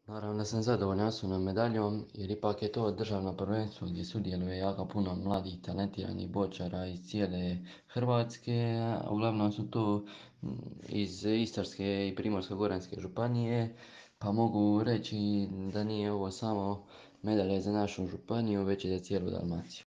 Naravno da sam zadovoljan osnovnom medaljom jer ipak je to državno prvenstvo gdje sudjeluje jako puno mladih talentiranih bočara iz cijele Hrvatske, a uglavnom su to iz Istarske i Primorsko-goranske županije, pa mogu reći da nije ovo samo medalja za našu županiju, već i za cijelu Dalmaciju.